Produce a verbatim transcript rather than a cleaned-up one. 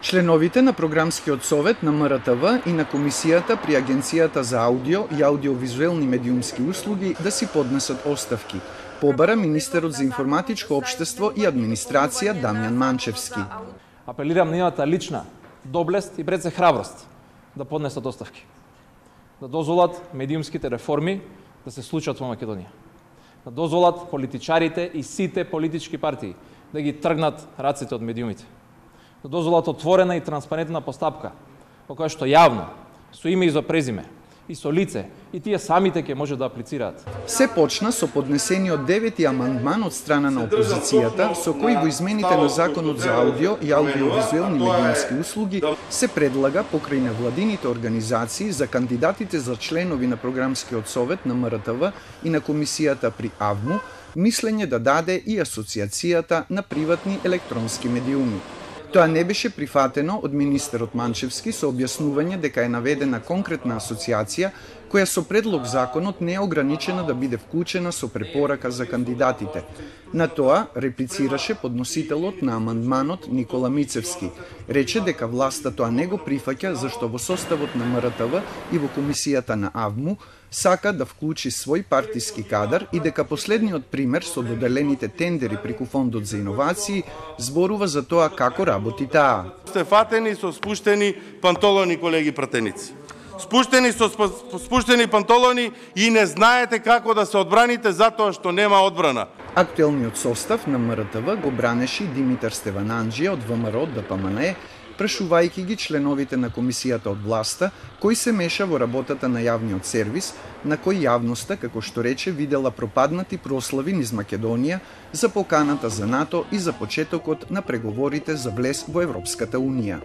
Членовите на Програмскиот совет на М Р Т В и на Комисијата при Агенцијата за аудио и аудиовизуелни медиумски услуги да си поднесат оставки, побара министерот за информатичко општество и администрација Дамјан Манчевски. Апелирам на нивната лична доблест и пред се храброст да поднесат оставки, да дозволат медиумските реформи да се случат во Македонија, да дозволат политичарите и сите политички партии да ги тргнат раците од медиумите, да дозволат отворена и транспарентна постапка, во која што јавно, со име и за презиме, и со лице, и тие самите ќе може да аплицираат. Се почна со поднесениот девети амандман од страна на опозицијата, со кој во измените на Законот за аудио и аудиовизуелни медиумски услуги се предлага покрај невладините организации за кандидатите за членови на Програмскиот совет на М Р Т В и на Комисијата при А В М У мислење да даде и Асоциацијата на приватни електронски медиуми. Тоа не беше прифатено од министерот Манчевски со објаснување дека е наведена конкретна асоциација која со предлог законот не е ограничена да биде вклучена со препорака за кандидатите. На тоа реплицираше подносителот на амандманот Никола Мицевски. Рече дека власта тоа не го прифаќа зашто во составот на М Р Т В и во Комисијата на А В М У сака да вклучи свој партиски кадар и дека последниот пример со доделените тендери преку Фондот за иновации зборува за тоа како работи таа. Сте фатени со спуштени пантолони, колеги пратеници. Спуштени со спуштени пантолони и не знаете како да се одбраните затоа што нема одбрана. Актуелниот состав на М Р Т В го бранеше Димитар Стевананџија од В М Р од Д П М Н Е, прашувајќи ги членовите на комисијата од власта, кој се меша во работата на јавниот сервис, на кој јавноста, како што рече, видела пропаднати прослави низ Македонија за поканата за НАТО и за почетокот на преговорите за влез во Европската Унија.